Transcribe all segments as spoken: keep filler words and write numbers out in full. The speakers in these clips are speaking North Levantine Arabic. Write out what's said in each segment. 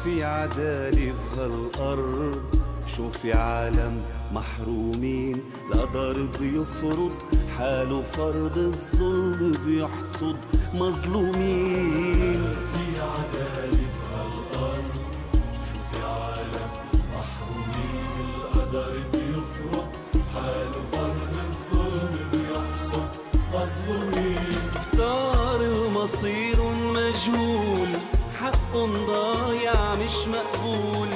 في عدالة بهالأرض، شو في عالم محرومين، القدر بيفرض حاله فرض، الظلم بيحصد مظلومين. في عدالة بهالأرض، شو في عالم محرومين، القدر بيفرض حاله فرض، الظلم بيحصد مظلومين. كتار المصير مجهول، حقهم ضايع مش مقبول،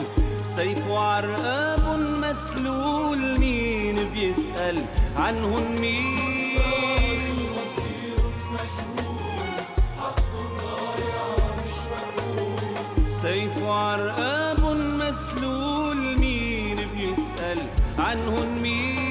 سيفه عرقاب مسلول، مين بيسأل عنهن مين؟ مصير مجهول، حقهم ضايع مش مقبول، سيفه عرقاب مسلول، مين بيسأل عنهن مين؟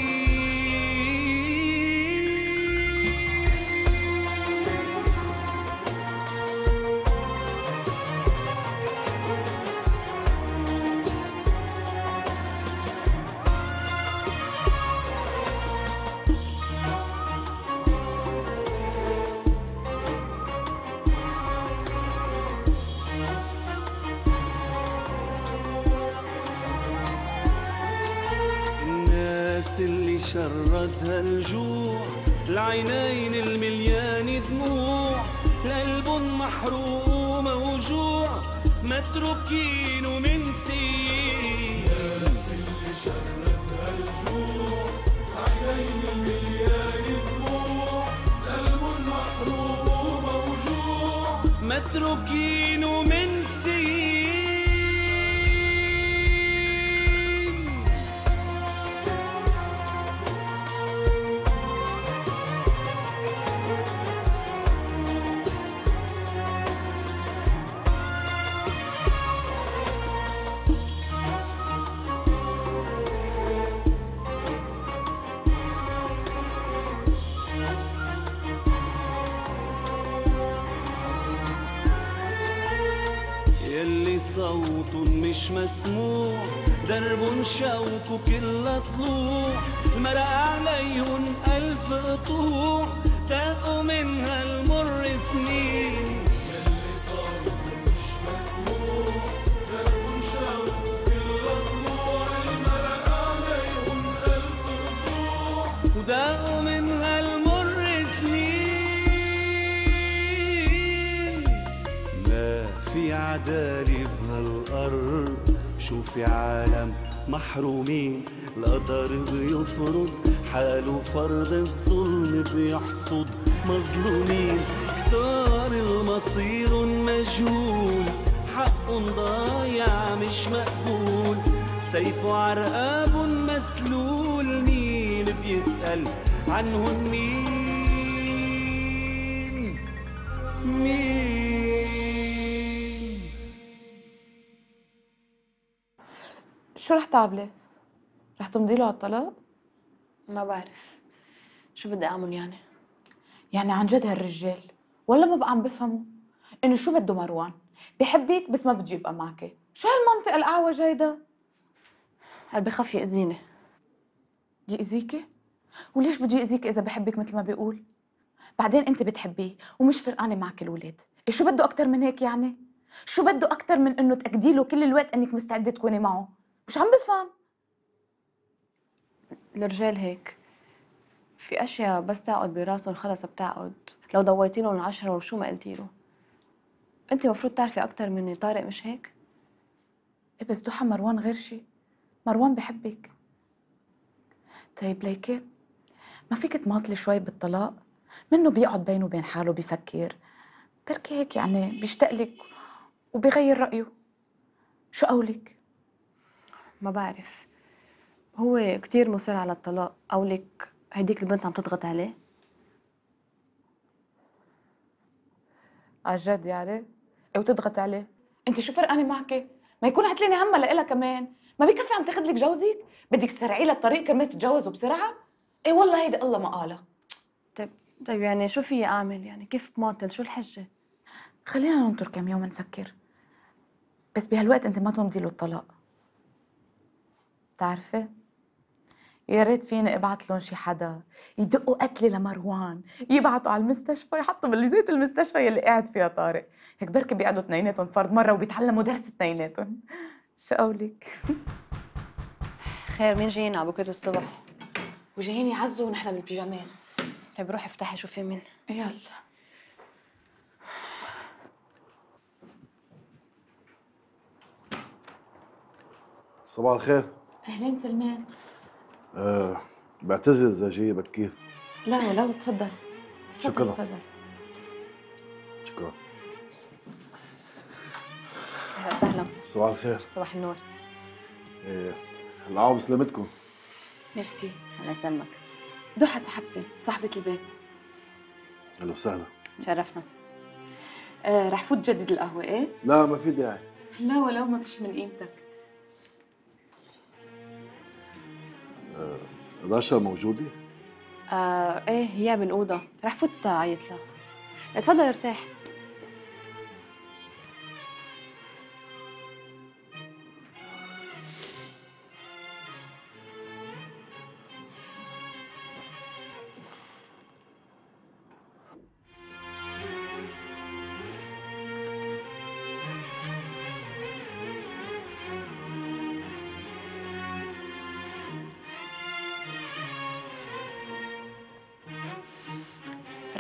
اللي شردها الجوع، العينين المليان دموع، القلب محروق وموجوع، متروكين ومنسيين. الناس اللي شردها الجوع، العينين المليان دموع، القلب محروق وموجوع، متروكين ومنسيين. يلي صوت مش مسموع، درب شوك كل طلوع، المرق عليهن ألف قطوع، تاقوا منها المر سنين. يلي صوت مش مسموع، درب شوك كل طلوع، المرق عليهن ألف قطوع، وتاقوا منها المر سنين. في عدالة بهالأرض، شو في عالم محرومين، القدر بيفرض حاله فرض، الظلم بيحصد مظلومين. كتار المصير مجهول، حقهم ضايع مش مقبول، سيفه عرقاب مسلول، مين بيسأل عنهن مين؟ مين؟ شو رح تعملي؟ رح تمضي له على الطلاق؟ ما بعرف شو بدي اعمل يعني. يعني عن جد هالرجال ولا ما بقى عم بفهموا انه شو بده مروان؟ بحبك بس ما بده يبقى معك. شو هالمنطق الاعوج هيدا؟ هل بخاف يأذيني؟ يأذيكي؟ وليش بده يأذيك اذا بحبك مثل ما بيقول؟ بعدين انت بتحبيه ومش فرقانه معك الولاد، إيه شو بده اكثر من هيك يعني؟ شو بده اكثر من انه تأكدي له كل الوقت انك مستعده تكوني معه؟ مش عم بفهم. الرجال هيك، في اشياء بس تقعد براسهم خلص بتعقد، لو ضويتي لهم العشرة وشو ما قلتي له. انت المفروض تعرفي اكثر مني، طارق مش هيك؟ ايه بس ضحى مروان غير شيء، مروان بحبك. طيب ليكي ما فيك تماطلي شوي بالطلاق؟ منه بيقعد بينه وبين حاله بيفكر، بركي هيك يعني بيشتاق لك وبيغير رأيه. شو قولك؟ ما بعرف، هو كتير مصر على الطلاق، قولك هديك البنت عم تضغط عليه؟ عجد يعني؟ ايه وتضغط عليه؟ انت شو فرقانه معك؟ ما يكون عتلاني همها لإلها كمان، ما بكفي عم تاخذ لك جوزك؟ بدك تسرعي لها الطريق كرمال تتجوزوا بسرعه؟ ايه والله هيدي الله ما قالها. طيب طيب يعني شو في اعمل يعني؟ كيف بماطل؟ شو الحجه؟ خلينا ننطر كم يوم نفكر، بس بهالوقت انت ما تمضي له الطلاق. بتعرفي يا ريت فيني ابعت لهم شي حدا يدقوا قتلي لمروان، يبعتوا على المستشفى يحطوا بالزيت المستشفى يلي قاعد فيها طارق، هيك بركي بيقعدوا اثنيناتهم فرد مره وبيتعلموا درس اثنيناتهم. شو قولك؟ خير، مين جايين على بكره الصبح؟ وجايين يعزوا ونحن بالبيجامات. طيب روحي افتحي شوفي مين. يلا. صباح الخير. اهلين سلمان. أه بعتذر إذا جاي بكير. لا ولو، تفضل. شكرا. تفضل. شكرا. اهلا وسهلا. صباح الخير. صباح النور. إيه العاب بسلامتكم. ميرسي. الله يسلمك. ضحى صاحبتي، صاحبة البيت. أهلا وسهلا. تشرفنا. آه رح فوت جدد القهوة ايه؟ لا ما في داعي. لا ولو ما فيش من قيمتك. أه رشا موجودة؟ آه ايه هي بالأوضة، رح فوت عيط لها. اتفضل ارتاح.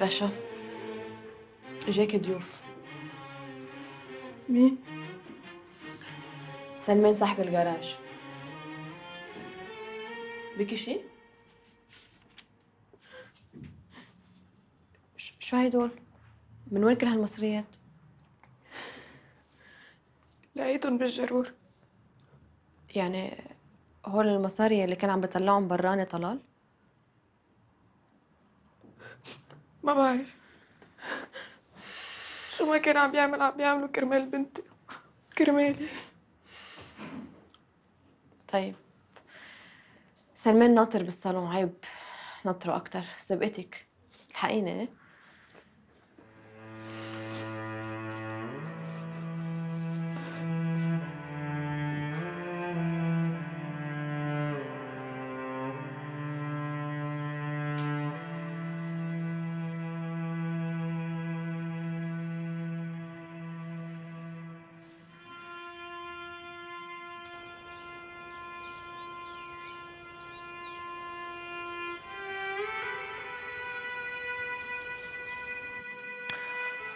رشا، اجاكي ضيوف. مين؟ سلمان صاحب الجراج. بكي شي؟ شو هيدول؟ من وين كل هالمصريات؟ لقيتهم بالجرور. يعني هول المصاري اللي كان عم بيطلعهم براني طلال؟ ما بعرف شو ما كان عم بيعمل عم بيعملوا كرمال بنتي، كرمالي. طيب سلمان ناطر بالصالون، عيب نطره أكتر. سبقتك، الحقيني. ايه؟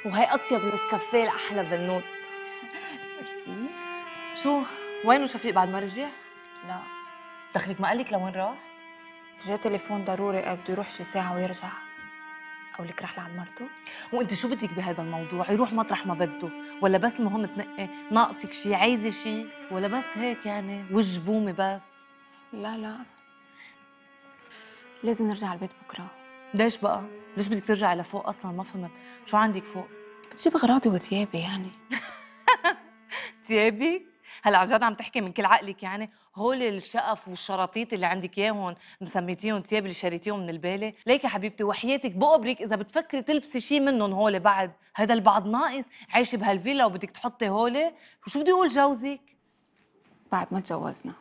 وهي أطيب نسكافيه لأحلى بنوت. ميرسي. شو وينه شفيق بعد ما رجع؟ لا، دخلك ما قالك لوين راح؟ جا تليفون ضروري بده يروح شي ساعة ويرجع. أو لك رح لعند مرته؟ وانت شو بدك بهذا الموضوع؟ يروح مطرح ما بده، ولا بس المهم تنقي ناقصك شي، عايزه شي، ولا بس هيك يعني وجه بومي بس؟ لا لا، لازم نرجع على البيت بكرة. ليش بقى؟ ليش بدك ترجعي لفوق اصلا؟ ما فهمت، شو عندك فوق؟ بتجيب أغراضي وثيابي يعني. تيابك؟ هلا عن جد عم تحكي من كل عقلك يعني؟ هول الشقف والشراطيط اللي عندك اياهم مسميتيهم تياب اللي شريتيهم من البالة؟ ليك يا حبيبتي وحياتك بقبرك اذا بتفكري تلبسي شي منهم هول بعد، هذا البعض ناقص، عايشه بهالفيلا وبدك تحطي هول؟ وشو بدي اقول جوزك؟ بعد ما تجوزنا.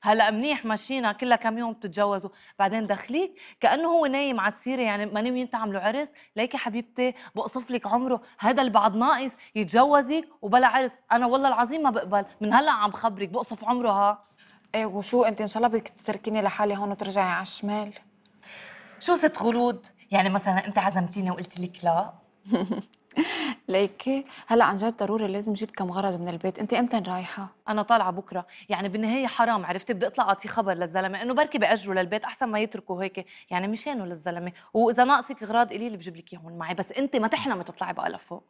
هلا منيح ماشينا كلها كم يوم بتتجوزوا، بعدين دخليك كانه هو نايم على السيره يعني ما ناويين تعملوا عرس. ليك يا حبيبتي بقصف لك عمره، هذا البعض ناقص يتجوزك وبلا عرس. انا والله العظيم ما بقبل، من هلا عم خبرك بقصف عمره. ها ايه وشو انت ان شاء الله بدك تتركيني لحالي هون وترجعي على الشمال؟ شو ست خلود؟ يعني مثلا انت عزمتيني وقلت لك لا؟ ليكي هلا عن جد ضروري لازم جيب كم غرض من البيت. انت امتى رايحه؟ انا طالعه بكره، يعني بالنهايه حرام عرفتي، بدي اطلع اعطيه خبر للزلمه انه بركي باجروا للبيت احسن ما يتركوا هيك يعني مشانه للزلمه. واذا ناقصك اغراض قليل بجيب لك اياهم معي، بس انت ما تحلمي تطلعي بقى لفوق.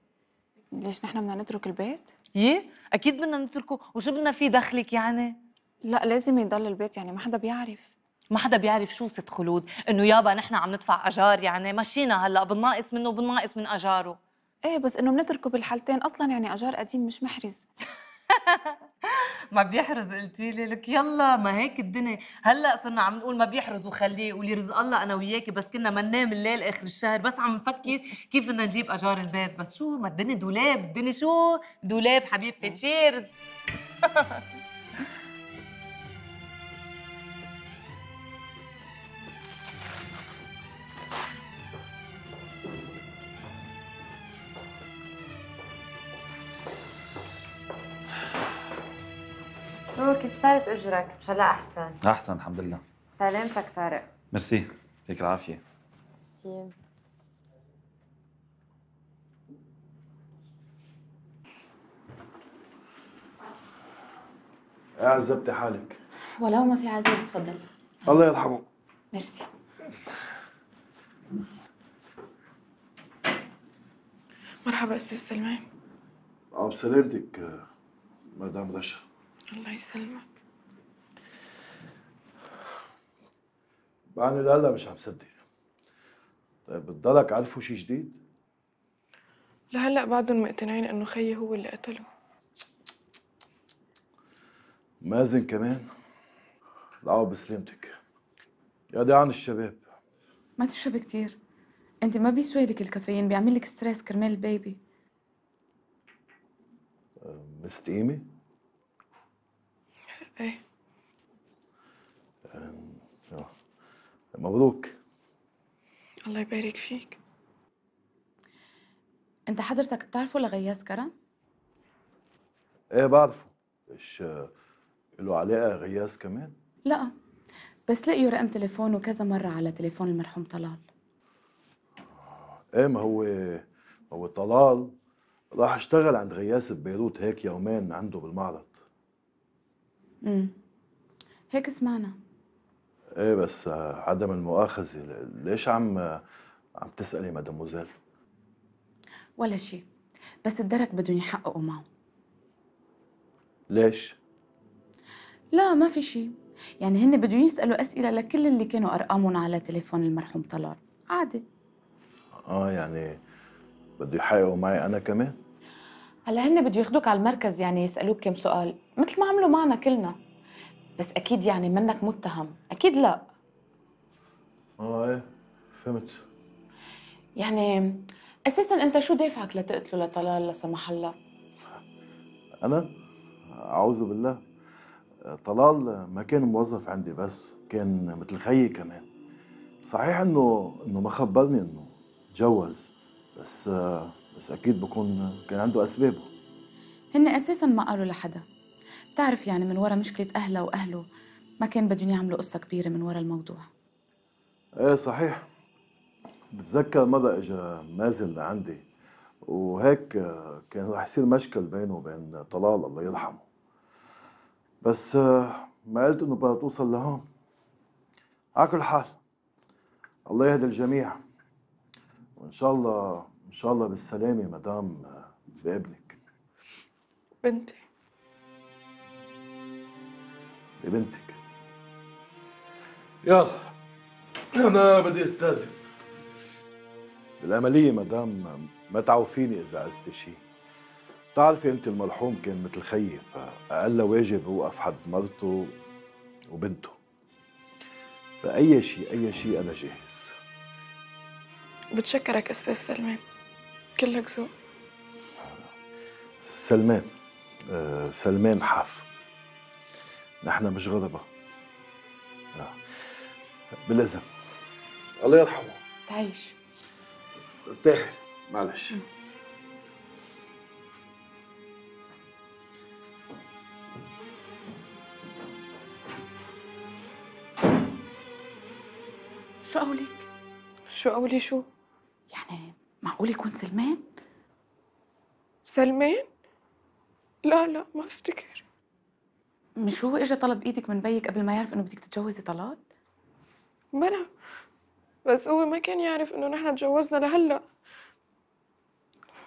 ليش نحن بدنا نترك البيت؟ يي اكيد بدنا نتركه، وشو بدنا فيه دخلك يعني؟ لا لازم يضل البيت، يعني ما حدا بيعرف. ما حدا بيعرف شو ست خلود؟ انه يابا نحن عم ندفع اجار يعني مشينا هلا بالناقص منه وبالناقص من اجاره. ايه بس انه بنتركه بالحالتين اصلا، يعني اجار قديم مش محرز. ما بيحرز قلتي لي؟ لك يلا ما هيك الدنيا، هلا صرنا عم نقول ما بيحرز وخليه، قولي رزق الله انا وياكي، بس كنا ما ننام الليل اخر الشهر بس عم نفكر كيف بدنا نجيب اجار البيت. بس شو ما الدنيا دولاب، الدنيا شو دولاب حبيبتي. تشيرز. شو كيف صارت اجرك؟ ان شاء الله احسن. احسن الحمد لله. سلامتك طارق. ميرسي، يعطيك العافيه. ميرسي. يا عذبتي حالك. ولو ما في عذاب تفضل. الله يرحمه. ميرسي. مرحبا استاذ سلمان. اه بسلامتك مدام رشا. الله يسلمك. بعدني لهلا مش عم صدق. طيب بتضلك عرفوا شي جديد؟ لهلا بعدهم مقتنعين انه خيي هو اللي قتله. مازن كمان؟ العوض بسلامتك. يا دي عن الشباب. ما تشربي كتير، انت ما بيسوي لك الكافيين، بيعمل لك ستريس كرمال البيبي. مستقيمة؟ ايه. آه. مبروك. الله يبارك فيك. انت حضرتك بتعرفه لغياس كرم؟ ايه بعرفه. ايش له علاقة غياس كمان؟ لا، بس لقيوا رقم تليفونه كذا مرة على تليفون المرحوم طلال. ايه ما هو هو طلال راح اشتغل عند غياس ببيروت هيك يومين عنده بالمعرض. امم هيك سمعنا. ايه بس عدم المؤاخذة، ليش عم عم تسألي مدموزيل؟ ولا شيء، بس الدرك بدهم يحققوا معه. ليش؟ لا ما في شيء، يعني هن بدهم يسألوا أسئلة لكل اللي كانوا أرقامهم على تليفون المرحوم طلال، عادي. اه يعني بده يحققوا معي أنا كمان؟ هلا هن بده ياخدوك على المركز، يعني يسألوك كم سؤال مثل ما عملوا معنا كلنا، بس أكيد يعني منك متهم، أكيد لا. اه ايه فهمت. يعني أساساً أنت شو دافعك لتقتله لطلال لا سمح الله؟ أنا؟ أعوذ بالله. طلال ما كان موظف عندي بس، كان مثل خيي كمان. صحيح إنه إنه ما خبرني إنه تجوز، بس بس أكيد بكون كان عنده أسبابه. هن أساساً ما قالوا لحدا، بتعرف يعني من ورا مشكلة أهلها وأهله ما كان بدهم يعملوا قصة كبيرة من ورا الموضوع. إيه صحيح. بتذكر مرة إجا مازن لعندي وهيك كان رح يصير مشكل بينه وبين طلال الله يرحمه، بس ما قلت إنه بدها توصل لهون. على كل حال الله يهدي الجميع، وإن شاء الله إن شاء الله بالسلامة مدام بابنك. بنتي. ببنتك. يلا أنا بدي أستاذن. بالعملية مدام ما تعوفيني إذا عزتي شيء. بتعرفي أنت المرحوم كان مثل خيي، فأقل واجب يوقف حد مرته وبنته. فأي شيء أي شيء أنا جاهز. بتشكرك أستاذ سلمان، كلك ذوق. سلمان آه سلمان حاف. نحن مش غضبة. آه. بالإذن. الله يرحمه. تعيش. ارتاحي معلش. شو قولك؟ شو قولي شو؟ يعني معقول يكون سلمان؟ سلمان؟ لا لا ما بفتكر. مش هو اجى طلب ايدك من بيك قبل ما يعرف انه بدك تتجوزي طلال؟ بلا، بس هو ما كان يعرف انه نحن تجوزنا لهلا.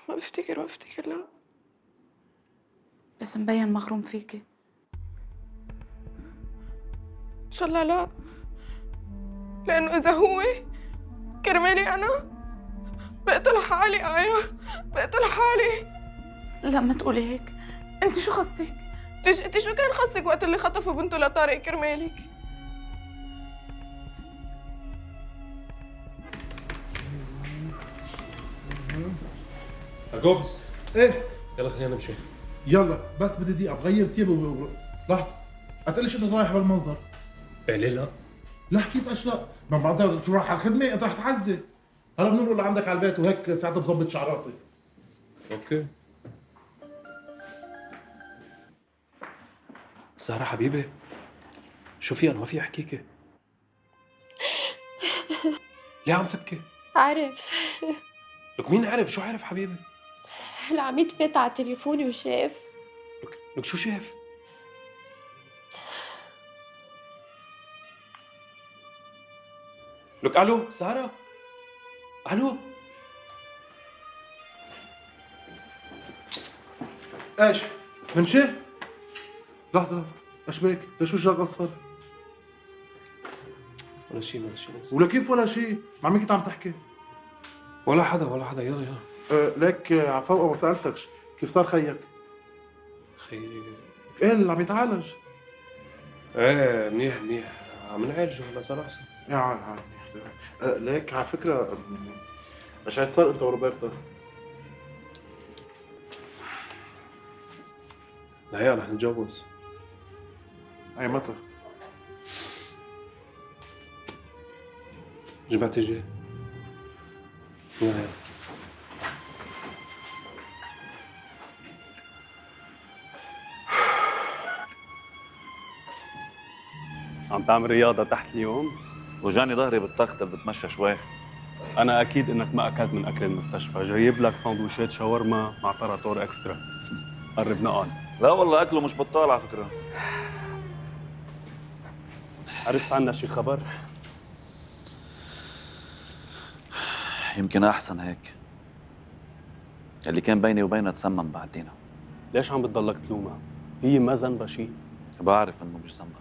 ما بفتكر ما بفتكر لا. بس مبين مغروم فيكي. ان شاء الله لا، لانه اذا هو كرمالي انا بقتل حالي. ايوه بقتل حالي. لا ما تقولي هيك، انت شو خصك؟ ليش انت شو كان خصك وقت اللي خطفوا بنته لطارق كرمالك؟ أجوبز. ايه يلا خلينا نمشي. يلا بس بدي دقيقة بغير تياب و... لحظة، قتقلش انك رايح بالمنظر. إيه ليه لا؟ لا كيف اشلاء؟ ما بعد شو راح على الخدمة؟ انت رح تعزي. هلا بننقل لعندك على البيت وهيك ساعتها بظبط شعراتي. اوكي. سارة حبيبي شو في؟ انا ما في احكيكي. ليه عم تبكي؟ عرف. لك مين عرف؟ شو عرف حبيبي؟ العميد فات على تليفوني وشاف. لك لك شو شاف؟ لك الو سارة؟ الو؟ ايش؟ منشي؟ لحظة لحظة، ايش بك؟ ليش وجهك اصفر؟ ولا شيء ولا شيء. ولا كيف ولا شيء؟ مع مين كنت عم تحكي؟ ولا حدا ولا حدا. يلا يلا. أه ليك آه، عفوا ما سألتكش، كيف صار خيك؟ خي ايه اللي عم يتعالج؟ ايه منيح منيح، عم نعالجه هلا صار احسن. يا عال عال منيح. أه ليك على فكرة مش عاد صار انت وروبرتا؟ لا رح نتجوز. اي متى؟ جمعة الجاي. يلا يلا. عم تعمل رياضة تحت اليوم؟ وجاني ظهري بالتخت بتمشى شوي. أنا أكيد إنك ما أكلت من أكل المستشفى، جايب لك سندويشات شاورما مع طراطور إكسترا. قرب نقعد. لا والله أكله مش بطال على فكرة. عرفت عنا شي خبر؟ يمكن أحسن هيك. اللي كان بيني وبينها تسمم بعدينا. ليش عم بتضلك تلومها؟ هي ما ذنبها شي. بعرف إنه مش ذنبها.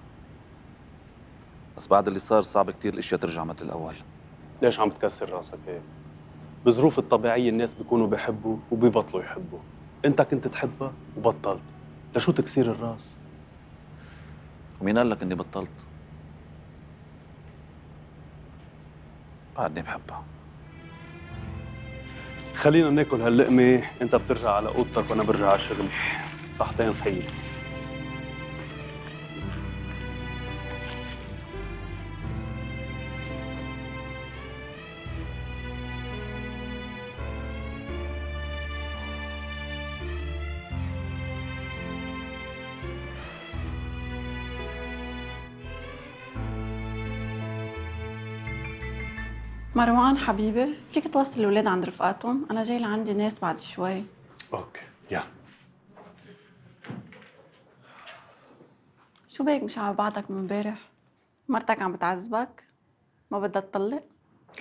بس بعد اللي صار صعب كتير الأشياء ترجع مثل الأول. ليش عم تكسر راسك هيك؟ بظروف الطبيعية الناس بيكونوا بيحبوا وبيبطلوا يحبوا. أنت كنت تحبها وبطلت. لشو تكسير الراس؟ ومين قال لك إني بطلت؟ بعدني بحبها. خلينا ناكل هاللقمة، أنت بترجع على أوضتك وأنا برجع على شغلي. صحتين خيي. مروان حبيبي، فيك توصل الأولاد عند رفقاتهم؟ أنا جاي لعندي ناس بعد شوي. اوكي يلا. شو بك مش على بعضك من امبارح؟ مرتك عم بتعذبك؟ ما بدها تطلق؟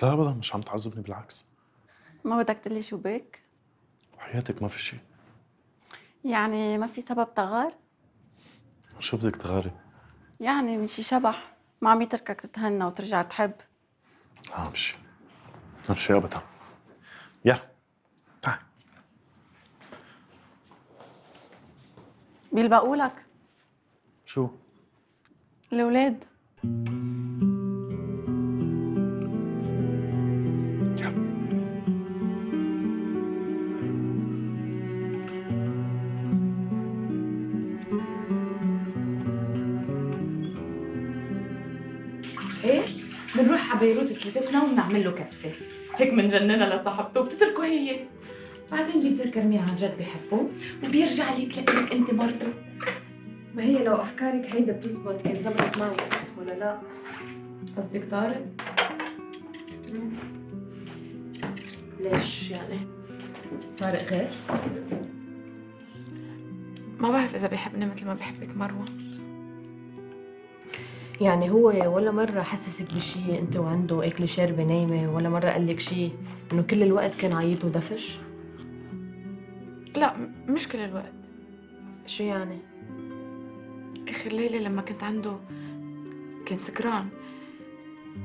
لا ابدا مش عم تعذبني، بالعكس. ما بدك تقلي شو بك؟ وحياتك ما في شيء. يعني ما في سبب تغار؟ شو بدك تغاري؟ يعني من شي شبح ما عم يتركك تتهنى وترجع تحب. لا ما في شيء، ما في شيء ابدا. يلا تعال. بيلبقوا لك شو؟ الأولاد. ايه بنروح على بيروت كيفتنا وبنعمل له كبسه هيك بنجننها لصاحبته وبتتركه هي. بعدين بيتذكر مين عن جد بيحبه وبيرجع لك لك انت مرته. ما هي لو افكارك هيدا بتزبط كان زبطت معي ولا لا؟ قصدك طارق؟ ليش يعني؟ طارق غير؟ ما بعرف اذا بيحبني مثل ما بيحبك مروه. يعني هو ولا مرة حسسك بشي انت وعنده اكل شاربة نايمة، ولا مرة قال لك شي انه كل الوقت كان عيط ودفش؟ لا مش كل الوقت. شو يعني؟ اخر ليلة لما كنت عنده كان سكران،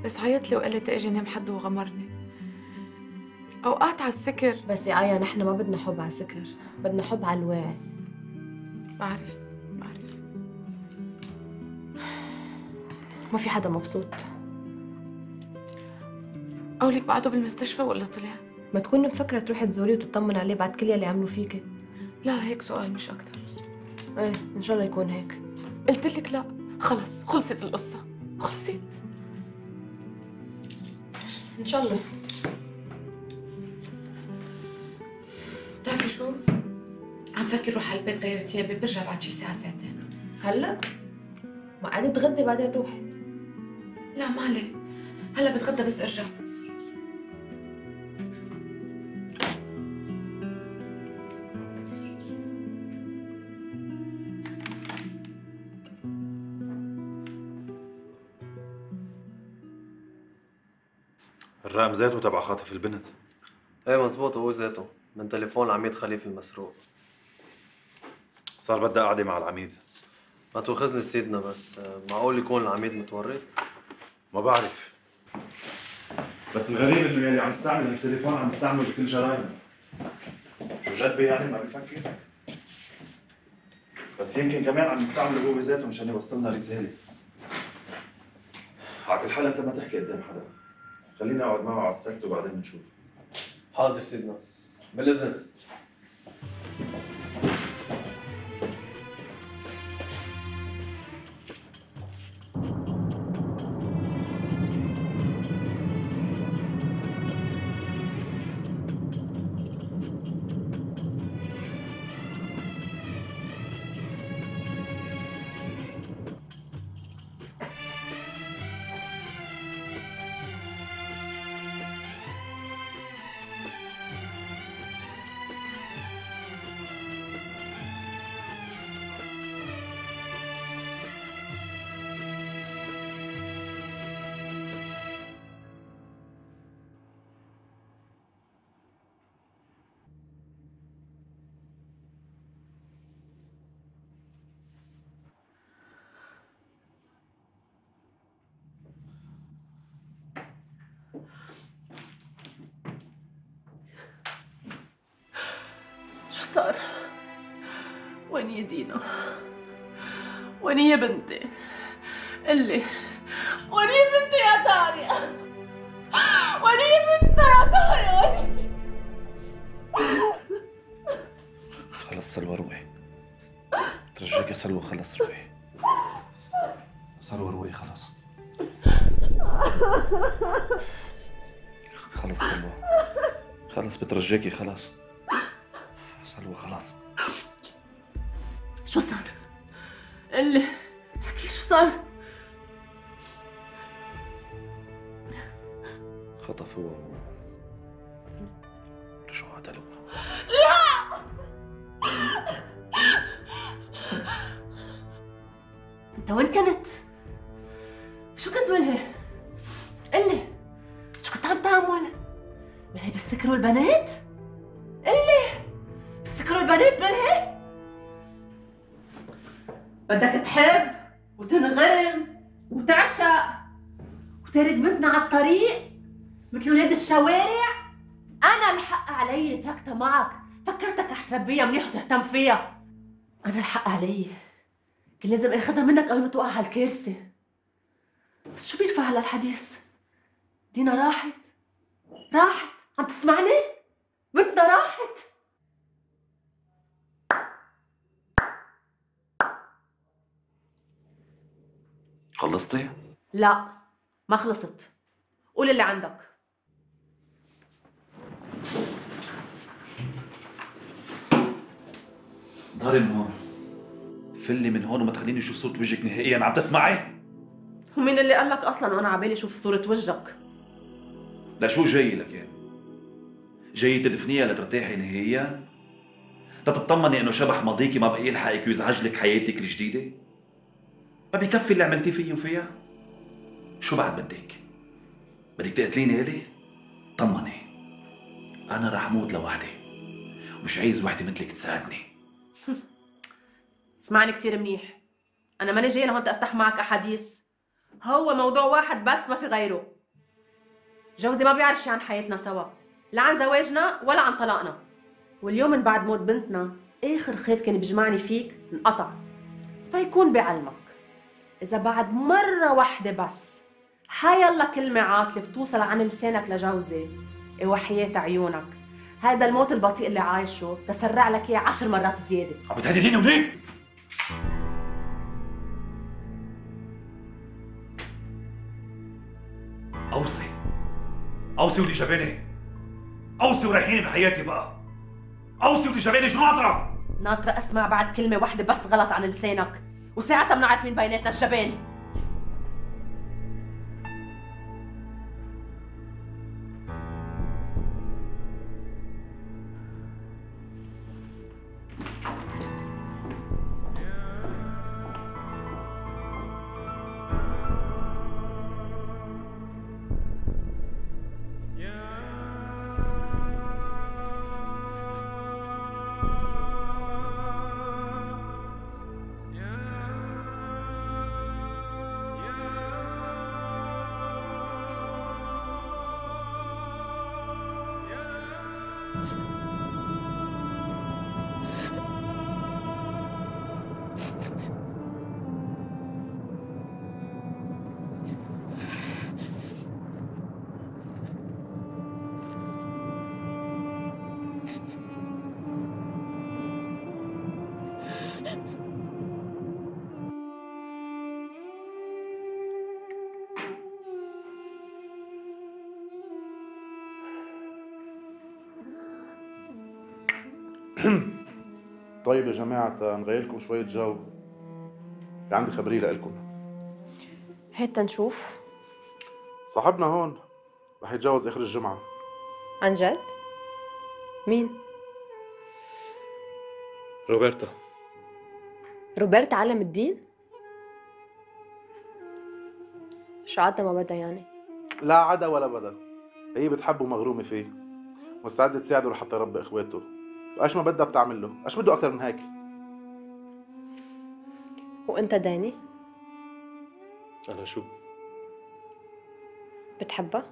بس عيط لي وقال لي تاجي نام حده وغمرني. اوقات على السكر. بس يا آية نحن ما بدنا حب على السكر، بدنا حب على الواعي. بعرف بعرف. ما في حدا مبسوط. قولك بعده بالمستشفى ولا طلع؟ ما تكون مفكرة تروحي تزوريه وتطمن عليه بعد كل يلي عملوا فيكي. لا هيك سؤال مش أكتر. ايه إن شاء الله يكون هيك. قلت لك لا، خلص خلصت القصة، خلصت. إن شاء الله. بتعرفي شو؟ عم فكر روح على البيت غير ثيابي، برجع بعد شي ساعة ساعتين. هلا؟ ما قعدي تغدي بعدين روحي. لا ما عليه، هلا بتغدى بس ارجع. الرقم ذاته تبع خاطف البنت. ايه مزبوط، هو ذاته من تليفون العميد خليفه المسروق. صار بدها قعدة مع العميد. ما تواخذني سيدنا، بس معقول يكون العميد متورط؟ ما بعرف، بس الغريب انه يلي عم يستعمل التليفون عم يستعمله بكل جرايمه. شو جد بي يعني ما بفكر؟ بس يمكن كمان عم يستعمله هو ذاته مشان يوصلنا رسالة. على كل حال انت ما تحكي قدام حدا، خليني اقعد معه على السكت وبعدين بنشوف. حاضر سيدنا، بالاذن. صار؟ وين يا دينا؟ وين يا بنتي؟ قلي وين يا بنتي يا طارق؟ وين يا بنتي يا طارق؟ خلص سلوى روحي، ترجاك يا سلوى خلص روحي. سلوى روحي خلص. خلص سلوى، خلص بترجاكي خلص. سلوى خلاص. شو صار؟ قلي احكي شو صار؟ خطفوها ورجعوا قتلوها. لا! انت وين كنت؟ شو كنت ملهي؟ قلي شو كنت عم تعمل؟ ملهي بتسكروا البنات؟ قلي بتسكروا البنات ملهي؟ بدك تحب وتنغرم وتعشق وتارك بنتنا على الطريق مثل ولاد الشوارع؟ أنا الحق علي اللي تركتها معك، فكرتك رح تربيها منيح وتهتم فيها. أنا الحق علي، كان لازم آخذها منك قبل ما توقع على الكارثة. بس شو بينفع هلا الحديث؟ دينا راحت راحت، عم تسمعني؟ بنتنا راحت. خلصتي؟ لا ما خلصت، قول اللي عندك. ظهري من هون، فلي من هون وما تخليني اشوف صورة وجهك نهائيا، عم تسمعي؟ ومين اللي قال لك اصلا وانا عبالي اشوف صورة وجهك؟ لشو جاي لك يعني؟ جاي تدفنيها لترتاحي نهائيا؟ تتطمني انه شبح ماضيكي ما بقى يلحقك ويزعج لك حياتك الجديدة؟ ما بكفي اللي عملتيه فيي وفيها؟ شو بعد بدك؟ بدك تقتليني الي؟ طمني، انا رح موت لوحدي ومش عايز وحدة مثلك تساعدني. اسمعني كثير منيح، انا ماني جايه لهون افتح معك احاديث، هو موضوع واحد بس ما في غيره. جوزي ما بيعرف شي عن حياتنا سوا، لا عن زواجنا ولا عن طلاقنا، واليوم من بعد موت بنتنا اخر خيط كان بيجمعني فيك انقطع. فيكون بعلمك اذا بعد مره واحده بس حيالله كلمه عاطله بتوصل عن لسانك لجوزي، إيه وحياة عيونك هذا الموت البطيء اللي عايشه تسرع لك اياه عشر مرات زياده. عم بتهدديني وليه؟ اوصي اوصي ولي جباني، اوصي وريحيني بحياتي بقى، اوصي ولي جباني. شو ناطره؟ ناطره اسمع بعد كلمه واحده بس غلط عن لسانك، وساعتها بنعرف مين بيناتنا الجبان. طيب يا جماعة نغير لكم شوية جو، في عندي خبرية لكم. هات تنشوف. صاحبنا هون رح يتجوز آخر الجمعة. عن جد؟ مين؟ روبرتا. روبرتا علم الدين؟ شو عادة ما بدها يعني؟ لا عدا ولا بدا، هي بتحبه ومغرومة فيه، مستعدة تساعده لحتى يربي اخواته، وايش ما بدها بتعمل له، ايش بده اكثر من هيك؟ وانت داني؟ أنا شو؟ بتحبها؟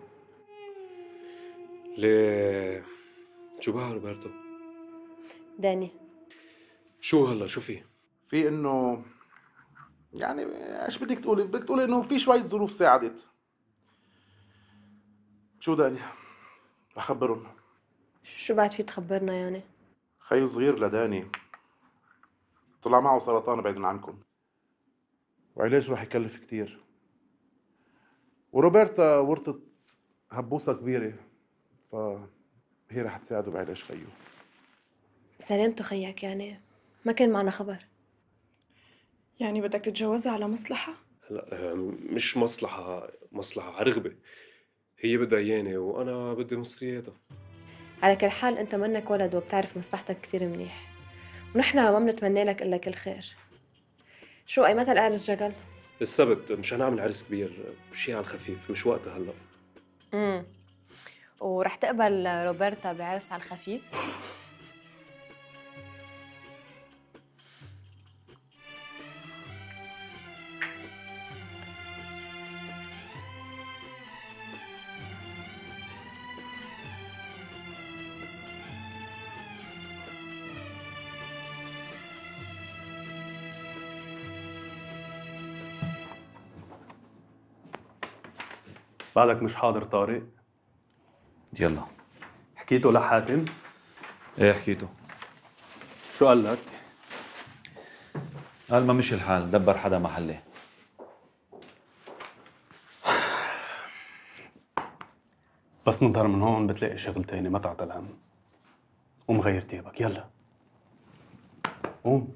ليه؟ شو بها روبرتو؟ داني شو هلا شو في؟ في انه يعني ايش بدك تقولي؟ بدك تقولي انه في شوية ظروف ساعدت. شو داني؟ رح خبرهم. شو بعد في تخبرنا يعني؟ خيو صغير لداني طلع معه سرطان بعيد عنكم، وعلاجه رح يكلف كتير، وروبرتا ورثت هبوسة كبيرة، فهي رح تساعده بعلاج خيو. سلامته خيك يعني؟ ما كان معنا خبر. يعني بدك تتجوزها على مصلحة؟ هلا مش مصلحة، مصلحة على رغبة. هي بدها اياني وانا بدي مصرياتها. على كل حال انت منك ولد وبتعرف مصلحتك كتير منيح، ونحن ما بنتمنى لك الا كل خير. شو اي متى العرس جقل؟ السبت مشان نعمل عرس كبير، شيء على الخفيف، مش وقتها هلا. امم ورح تقبل روبرتا بعرس على الخفيف؟ بعدك مش حاضر طارق؟ يلا. حكيته لحاتم؟ ايه حكيته. شو قال لك؟ قال ما مشي الحال، دبر حدا محله. بس نظهر من هون بتلاقي شغل تاني، ما تعطل هم. قوم غير تيابك، يلا قوم.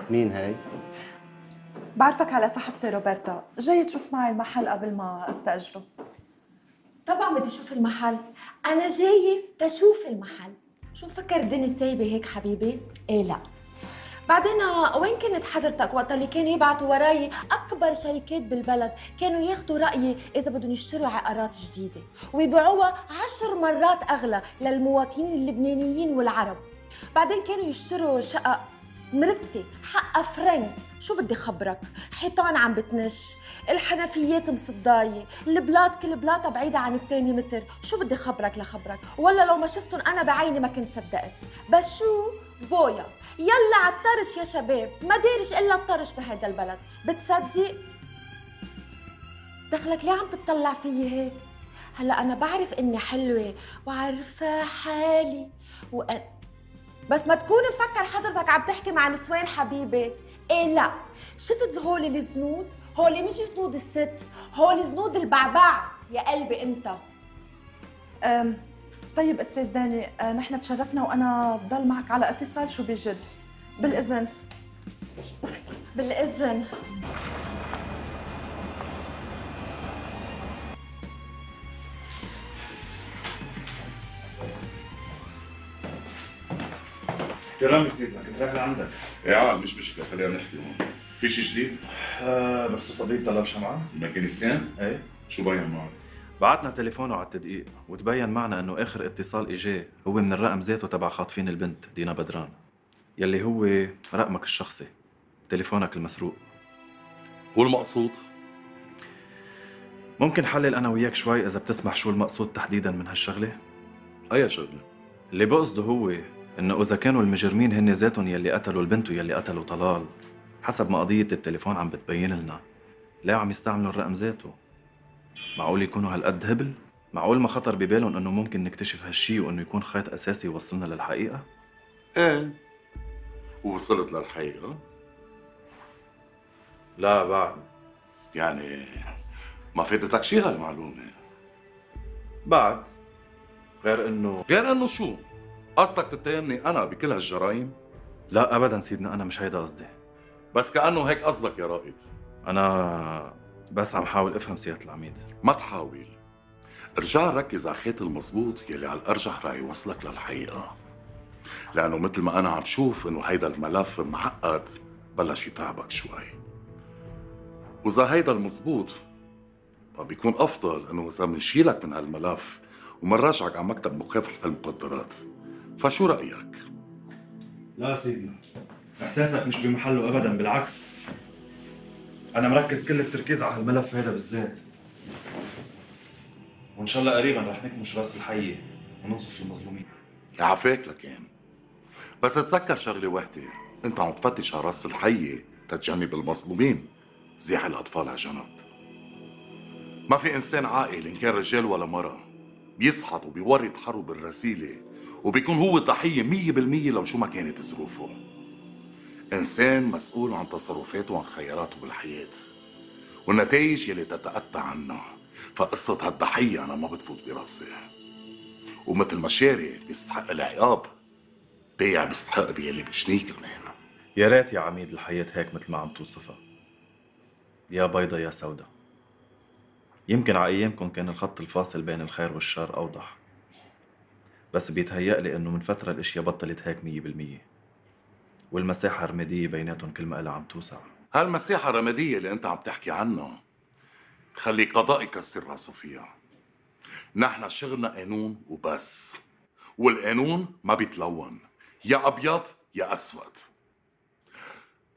مين هاي؟ بعرفك على صاحبتي روبرتا، جاي تشوف معي المحل قبل ما استأجره. طبعا بدي اشوف المحل، انا جايه تشوف المحل. شو مفكر الدنيا سايبه هيك حبيبي؟ ايه لا. بعدين وين كنت حضرتك وقت اللي كانوا يبعتوا وراي اكبر شركات بالبلد، كانوا ياخذوا رايي اذا بدهم يشتروا عقارات جديده ويبيعوها عشر مرات اغلى للمواطنين اللبنانيين والعرب. بعدين كانوا يشتروا شقق مرتي حقها فرنك. شو بدي خبرك؟ حيطان عم بتنش، الحنفيات مصدايه، البلاط كل بلاطه بعيده عن الثاني متر. شو بدي خبرك لخبرك؟ ولا لو ما شفتهم انا بعيني ما كنت صدقت. بس شو بويا، يلا على الطرش يا شباب، ما دارش الا الطرش بهذا البلد. بتصدق؟ دخلك ليه عم تطلع فيي هيك؟ هلا انا بعرف اني حلوه وعارفه حالي وأ... بس ما تكون مفكر حضرتك عم تحكي مع نسوان حبيبي. ايه لا، شفت هول الزنود؟ هول مش زنود الست، هول زنود البعبع يا قلبي انت. أم طيب استاذ داني، أه نحن تشرفنا وانا بضل معك على اتصال شو بجد. بالاذن. بالاذن. احترامي سيدنا، كنت رايح لعندك. ايه عاد مش مشكلة، خلينا نحكي هون. في شي جديد؟ آه بخصوص قضية طلال شمعان؟ الميكانيسيان؟ ايه. شو بين معك؟ بعتنا تليفونه على التدقيق وتبين معنا انه اخر اتصال اجاه هو من الرقم ذاته تبع خاطفين البنت دينا بدران، يلي هو رقمك الشخصي، تليفونك المسروق. والمقصود؟ ممكن حلل انا وياك شوي اذا بتسمح شو المقصود تحديدا من هالشغله؟ اي شغله؟ اللي بقصده هو انه اذا كانوا المجرمين هن ذاتهم يلي قتلوا البنت ويلي قتلوا طلال، حسب ما قضيه التليفون عم بتبين لنا، ليه عم يستعملوا الرقم ذاته؟ معقول يكونوا هالقد هبل؟ معقول ما خطر ببالهم انه ممكن نكتشف هالشي وانه يكون خيط اساسي يوصلنا للحقيقه؟ ايه. ووصلت للحقيقه؟ لا بعد. يعني ما فاتتك شي هالمعلومه؟ بعد. غير انه غير انه شو؟ قصدك تتهمني انا بكل هالجرايم؟ لا ابدا سيدنا، انا مش هيدا قصدي. بس كانه هيك قصدك يا رائد. انا بس عم حاول افهم سيادة العميد. ما تحاول، ارجع ركز على الخيط المزبوط يلي على الارجح رح يوصلك للحقيقه. لانه مثل ما انا عم شوف انه هيدا الملف معقد، بلش يتعبك شوي. واذا هيدا المزبوط فبيكون افضل انه اذا منشيلك من هالملف ومنرجعك على مكتب مكافحه المخدرات. فشو رايك؟ لا سيدنا، احساسك مش بمحله ابدا، بالعكس انا مركز كل التركيز على هالملف هذا بالذات، وان شاء الله قريبا رح نكمش راس الحيه وننصف المظلومين. عافاك لكان، بس تذكر شغله وحده، انت عم تفتش على راس الحيه تتجنب المظلومين، زيح الاطفال على جنب. ما في انسان عاقل ان كان رجال ولا مرأة بيسحط وبيورط حرب بالرسيله وبيكون هو ضحيه مية بالمية لو شو ما كانت ظروفه. انسان مسؤول عن تصرفاته وعن خياراته بالحياه والنتائج يلي تتأتى عنها. فقصه هالضحيه انا ما بتفوت براسي. ومثل ما شاري بيستحق العقاب، بيع بيستحق بيلي بشنيه كمان. يا ريت يا عميد الحياة هيك مثل ما عم توصفها، يا بيضة يا سودا. يمكن على ايامكم كان الخط الفاصل بين الخير والشر اوضح، بس بيتهيأ لي انه من فترة الاشياء بطلت هيك مية بالمية، والمساحة الرمادية بيناتهم كل ما قلها عم توسع. هالمساحة الرمادية اللي انت عم تحكي عنها خلي قضاء يكسر راسه فيها. نحن شغلنا قانون وبس، والقانون ما بيتلون، يا ابيض يا اسود.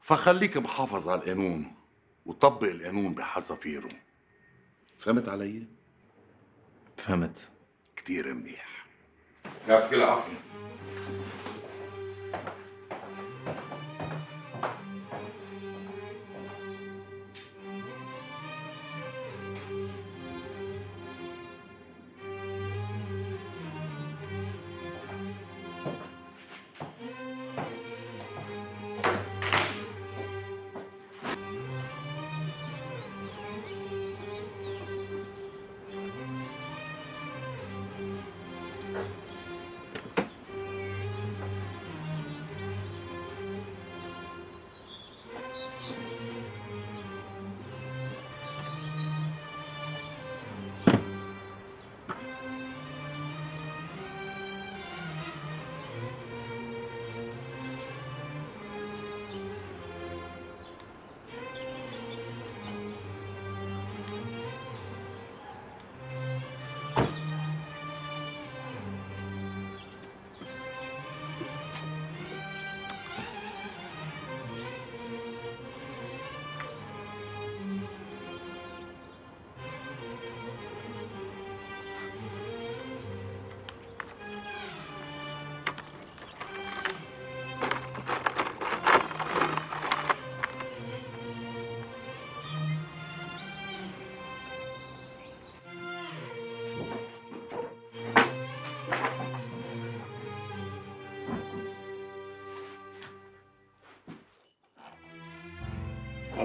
فخليك محافظ على القانون وطبق القانون بحذافيره. فهمت علي؟ فهمت كتير منيح. يعطيك العافية.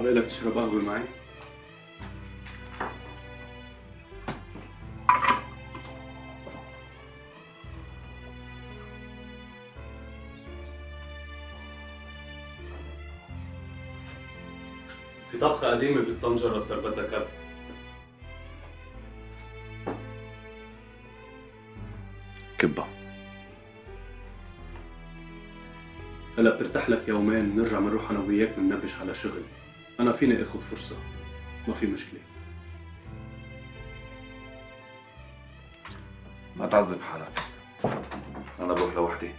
بقلك تشرب قهوة معي؟ في طبخة قديمة بالطنجرة صار بدها كب. كبة. هلا بترتاح لك يومين، بنرجع بنروح انا وياك بننبش على شغل. انا فيني اخذ فرصة، ما في مشكلة. ما تعذب حالك، أنا بروح لوحدي.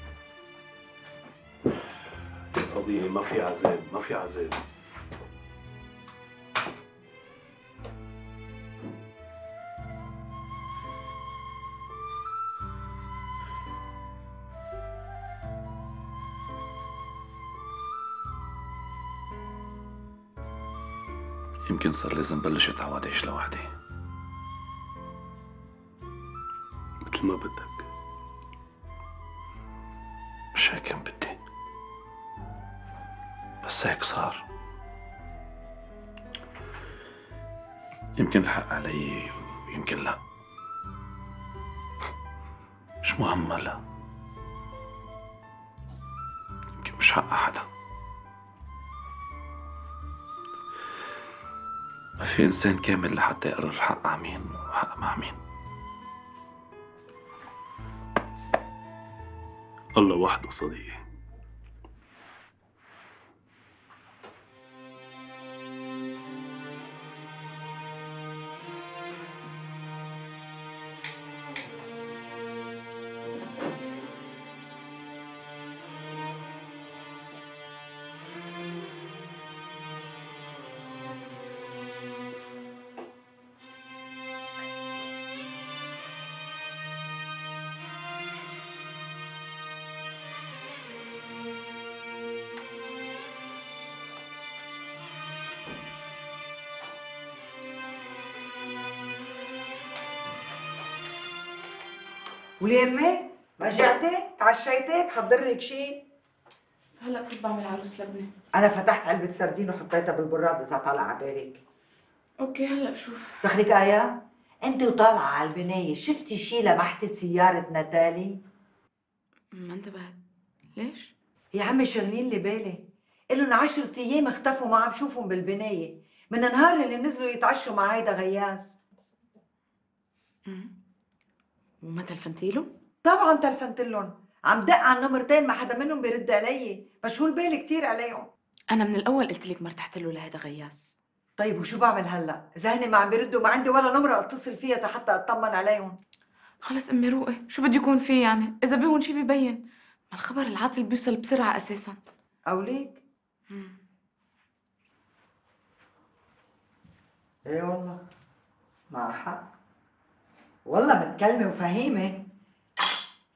يا صديقي ما في عذاب، ما في عذاب. يمكن صار لازم بلش اتعود اعيش لوحدي. مثل ما بدك. مش هيك كان بدي، بس هيك صار. يمكن الحق علي ويمكن لا، مش مهم هلا. يمكن مش حق حدا. ما في إنسان كامل لحتى يقرر حق مع مين وحق مع مين. الله وحده صديقي. وليه امي؟ ما جعتي؟ تعشيتي؟ بحضر لك شيء؟ هلا كنت بعمل عروس لبنه. انا فتحت علبة سردين وحطيتها بالبراد اذا طالع على بالك. اوكي هلا بشوف. دخلك آية؟ انت وطالعة على البناية شفتي شيء لمحتي سيارة ناتالي؟ ما انتبهت. ليش؟ يا عمي شغلين لي بالي. إلهم عشرة ايام اختفوا ما عم شوفهم بالبناية، من النهار اللي نزلوا يتعشوا مع هيدا غياس. امم وما تلفنتي له؟ طبعا تلفنت لهم، عم دق على النمرتين ما حدا منهم بيرد علي، مشغول بالي كثير عليهم. انا من الاول قلت لك ما ارتحت له لهذا غياس. طيب وشو بعمل هلا؟ اذا هن ما عم بيردوا ما عندي ولا نمره اتصل فيها حتى اطمن عليهم. خلص امي روقي، شو بده يكون فيه يعني؟ اذا بيهم شيء ببين، ما الخبر العاطل بيوصل بسرعه اساسا. او ليك؟ امم ايه والله مع حق، والله متكلمه وفهيمه.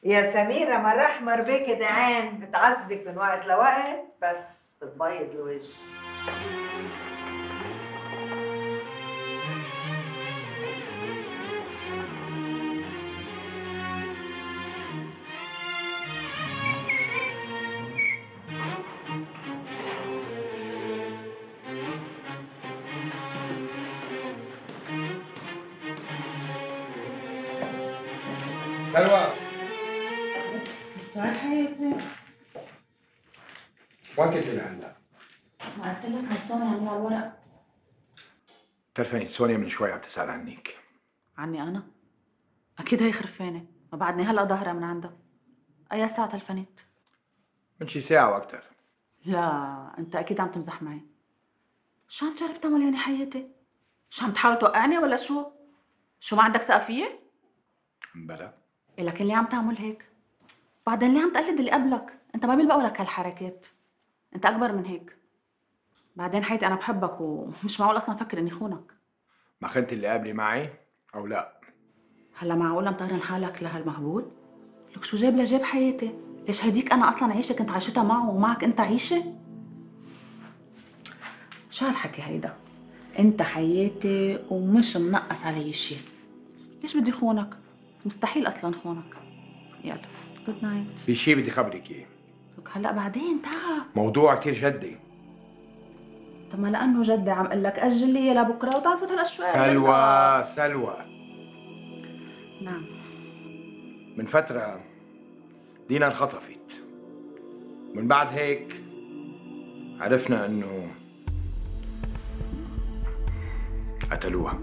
يا سميرة مرة أحمر بيك دعان، بتعذبك من وقت لوقت بس بتبيض الوجه. سلوى السؤال حياتي وين كنت لهلا؟ ما قلت لك عن سونيا عم على الورق. بتعرفي سونيا من شوي عم تسأل عنك. عني انا؟ اكيد هي خرفانه، ما بعدني هلا ظاهره من عندها. اي ساعه تلفنت؟ من شي ساعة وأكثر. لا انت اكيد عم تمزح معي. شو عم تجرب تعمل يعني حياتي؟ شو عم تحاول توقعني ولا شو؟ شو ما عندك ثقه فيي؟ بلا. إيه لكن ليه عم تعمل هيك؟ بعدين ليه عم تقلد اللي قبلك؟ انت ما بيلبقوا لك هالحركات. انت اكبر من هيك. بعدين حياتي انا بحبك ومش معقول اصلا افكر اني خونك. ما خنت اللي قابلي معي أو لا؟ هلا معقول مطهرن حالك لهالمهبول؟ لك شو جاب لجاب حياتي؟ ليش هديك انا اصلا عيشه كنت عايشتها معه ومعك انت عيشه؟ شو هالحكي هيدا؟ انت حياتي ومش منقص علي شيء. ليش بدي خونك؟ مستحيل اصلا خونك. يلا جود نايت. في شيء بدي خبرك إياه. لك هلا بعدين تعال. موضوع كثير جدي. طب ما لانه جدي عم قل لك اجل لي لبكره وتعال فوت هلا شوي. سلوى سلوى نعم. من فترة دينا انخطفت، من بعد هيك عرفنا انه قتلوها.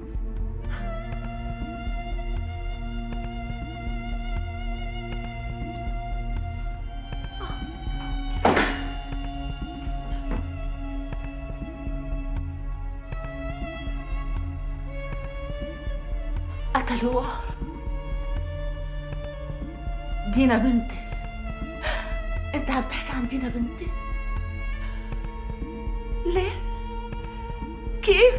قتلوها دينا بنتي. انت عم تحكي عن دينا بنتي؟ ليه؟ كيف؟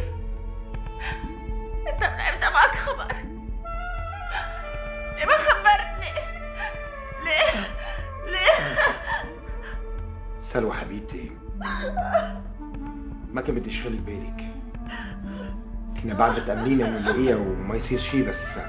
انت من امتى معك خبر؟ ليه ما خبرتني؟ ليه؟ ليه؟ سلوى حبيبتي، ما كان بدي اشغلك بالك، كنا بعد متأملين انه نلاقيها وما يصير شيء، بس